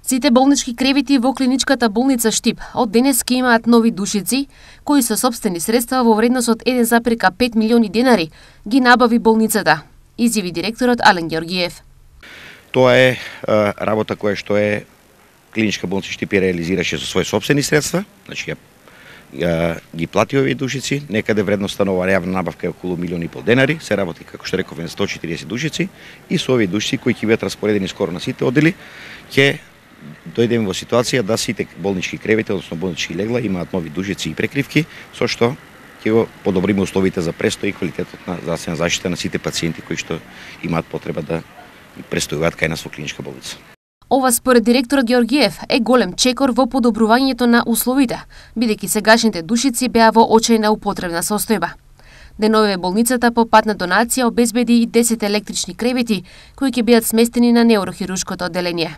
Сите болнички кревети во клиничката болница Штип од денес ќе имаат нови душици, кои со сопствени средства во вредност од 1,5 милиони денари ги набави болницата, изјави директорот Ален Георгиев. Тоа е работа која што е клиничка болница Штип реализираше со своји сопствени средства, значи ги плати овие душици, некаде вредноста на оваа јавна набавка е околу 1,5 милиони денари, се работи како што рековме 140 душици и со овие душици кои ќе бидат распоредени скоро на сите одели, ќе дојдеме во ситуација да сите болнички кревети, односно болнички легла имаат нови душици и прекривки, со што ќе го подобриме условите за престој и квалитетот на здравствена заштита на сите пациенти кои што имаат потреба да престојуваат кај нас во клиничка болница. Ова според директорот Георгиев е голем чекор во подобрувањето на условите, бидејќи сегашните душици беа во очајна употребна состојба. Деновиве болницата по пат на донација обезбеди и 10 електрични кревети кои ќе бидат сместени на неурохирушкото одделение.